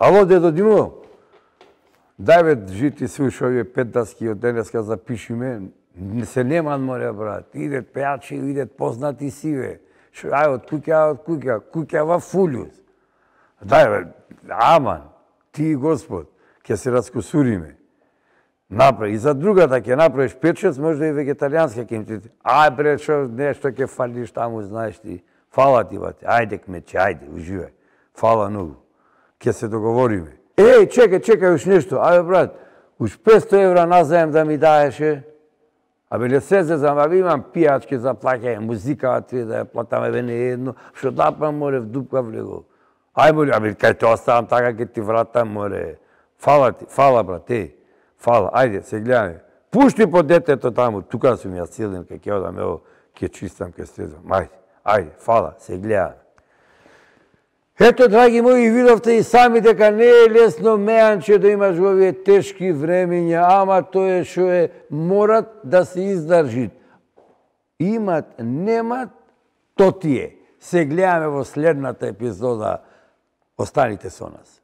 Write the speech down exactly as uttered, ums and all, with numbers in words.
Ало, дедо Димо, дај бе, жити слушай овие пет даски од денеска запишиме, не се неман море, брат, идет пејачи, идет познати сиве, ај од куќа, од куќа, куќа во фулјус. Дај бе, аман, ти Господ, ќе се раскусуриме. Направи. И за другата ќе направиш пет-шест, може и вегетаријанска ќе им ти. Ај бре, шо нешто ќе фалиш таму, знаеш ти. Фала ти, бате. Ајде, кмече, ајде, уживај. Фала многу. Ќе се договориме. Еј, чекај, чекај уш нешто. Ајде, брат, уш петсто евра назаем да ми даеше. Абе, не се зезам, абе, имам пијачки за плаќање, музика, три да ја платаме, бе, не едно. Шо дапам, море, в дупка влего. Ај, море, абе, кај те оставам така, ке ти вратам, море. Фала ти, фала, брат, еј. Фала, ајде, се гледаме. Пушти по детето таму, тука сум ја силен, ке ќе одам, ево, ке чистам, ке стезам. Ајде, ајде, фала, се гледаме. Ето, драги мои, видовте и сами дека не е лесно меанче да имаш во овие тешки времења, ама тоа е шо е, морат да се издржит. Имат, немат, то ти е. Се гледаме во следната епизода. Останите со нас.